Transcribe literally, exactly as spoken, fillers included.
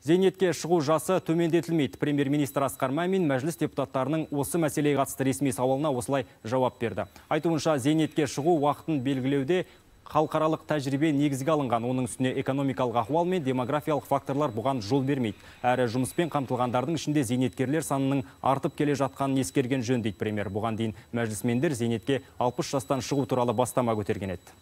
Зейнетке шығу жасы төмендетілмейді. Премьер-министр Асқар Мамин мәжіліс депутаттарының осы мәселеге қатысты ресми сауалына осылай жауап берді. Айтуынша, зейнетке шығу уақытын белгілеуде халықаралық тәжірибе негізге алынған. Оның үстіне экономикалық ахуал мен демографиялық факторлар бұған жол бермейді. Әрі жұмыспен қамтылғандардың ішінде зейнеткерлер санының артып келе жатқанын ескерген жөн дейді премьер. Бұған дейін мәжілісмендер зейнетке алпыс жастан шығу туралы бастама көтерген еді.